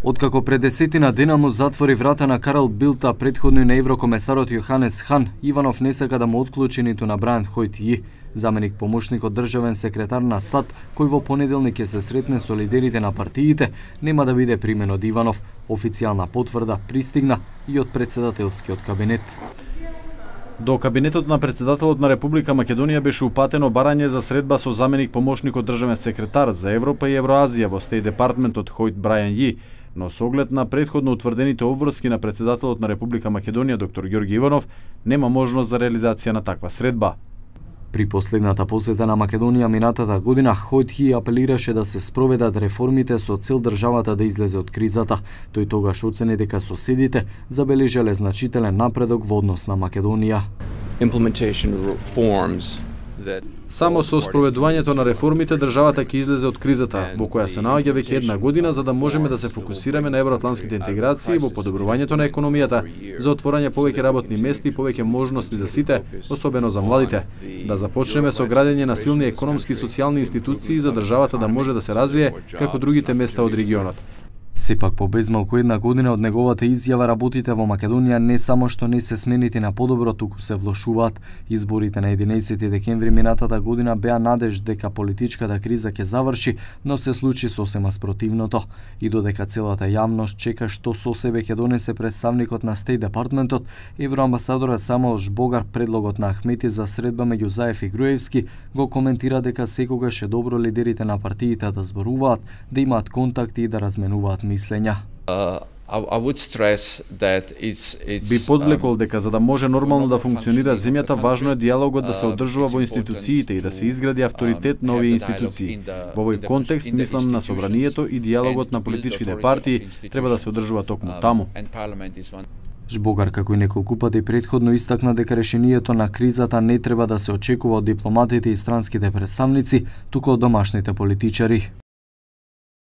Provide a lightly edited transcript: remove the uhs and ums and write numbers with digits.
Откако пред десетина дена му затвори врата на Карл Билт, а претходно и на еврокомесарот Јоханес Хан, Иванов не сака да му отклучи ниту на Брајан Хојтји, заменик помошник од државен секретар на САД, кој во понеделник ќе се сретне со лидерите на партиите, нема да биде примен од Иванов. Официјална потврда пристигна и од председателскиот кабинет. До кабинетот на председателот на Република Македонија беше упатено барање за средба со заменик помошник од државен секретар за Европа и Евроазија во Стејт департментот Хојт Брајан Ји, но со оглед на претходно утврдените обврски на председателот на Република Македонија доктор Ѓорги Иванов, нема можност за реализација на таква средба. При последната посета на Македонија минатата година, Хојтји апелираше да се спроведат реформите со цел државата да излезе од кризата. Тој тогаш оцени дека соседите забележале значителен напредок во однос на Македонија. Само со спроведувањето на реформите државата ќе излезе од кризата, во која се наоѓа веќе една година, за да можеме да се фокусираме на евроатлантските интеграции, во подобрувањето на економијата, за отворање повеќе работни места и повеќе можности за сите, особено за младите. Да започнеме со градење на силни економски и социјални институции за државата да може да се развие како другите места од регионот. Сепак по безмалку една година од неговата изјава, работите во Македонија не само што не се сменити на подобро, туку се влошуваат. Изборите на 11 декември минатата година беа надеж дека политичката криза ќе заврши, но се случи сосема спротивното. И додека целата јавност чека што со себе ќе донесе представникот на Стејт департментот, евроамбасадорот Самуел Жбогар предлогот на Ахмети за средба меѓу Заев и Груевски го коментира дека секогаш е добро лидерите на партиите да зборуваат, да имаат контакти и да разменуваат мислења. Би подвлекол дека за да може нормално да функционира земјата, важно е диалогот да се одржува во институциите и да се изгради авторитет на овие институции. Во овој контекст мислам на собранието и диалогот на политичките партии треба да се одржува токму таму. Жбогар, како и неколку пати претходно, истакна дека решението на кризата не треба да се очекува од дипломатите и странските представници, туку од домашните политичари.